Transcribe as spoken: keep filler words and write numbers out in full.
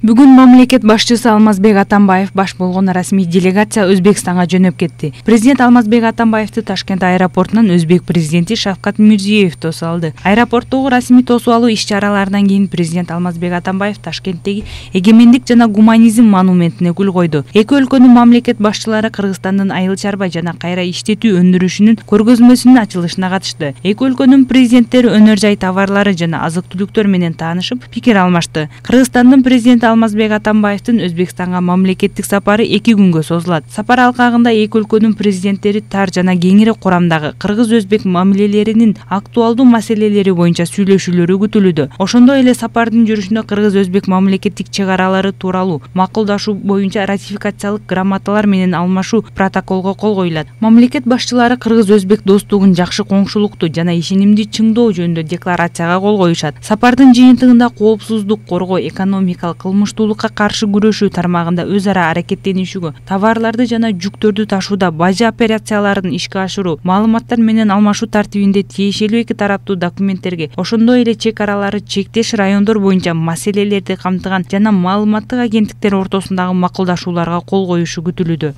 Бүгүн мамлекет башчысы Алмазбек Атамбаев баш болгон расмий делегация Өзбекстанга жөнөп кетти. Президент Алмазбек Атамбаевди Ташкент аэропортунан Өзбек президенти Шавкат Мирзиёев тосуп алды. Аэропорттогу расмий тосуп алуу иш-чараларынан кийин президент Алмазбек Атамбаев Ташкенттеги эгемендик жана гуманизм монументине гүл койду. Эки өлкөнүн мамлекет башчылары Кыргызстандын айыл чарба жана кайра иштетүү өндүрүшүнүн көргөзмөсүнүн ачылышына катышты. Эки өлкөнүн президенттери өнөр жай товарлары жана азык-түлүктөр менен таанышып, пикир алмашты. Кыргызстандын президенти Алмазбек Атамбаевдин Өзбекстанга мамлекеттик сапары эки күнгө созулат. Сапар алкагында эки өлкөнүн президенттери тар жана кеңири курамдагы кыргыз-өзбек мамилелеринин актуалдуу маселелери боюнча сүйлөшүүлөрү күтүлүүдө. Ошондой эле сапардын жүрүшүндө кыргыз-өзбек мамлекеттик чек аралары тууралуу макулдашуу боюнча ратификациялык грамоталар менен алмашуу протоколго кол коюлат. Мамлекет башчылары кыргыз-өзбек достугун жакшы коңшулукту жана ишенимди чыңдоо жөнүндө декларацияга кол коюшат. Сапардын жыйынтыгында коопсуздук коргоо, экономикалык кылмыштуулукка каршы күрөшүү тармагында өз ара аракеттенишүүгө, товарларды жана жүктөрдү ташууда бажы операцияларын ишке ашыруу, маалыматтар менен алмашуу тартибинде тиешелүү эки тараптуу документтерге, ошондой эле чек аралары чектеш райондор боюнча маселелерди камтыган жана маалыматтык агенттиктер ортосундагы макулдашууларга кол коюшу күтүлүүдө.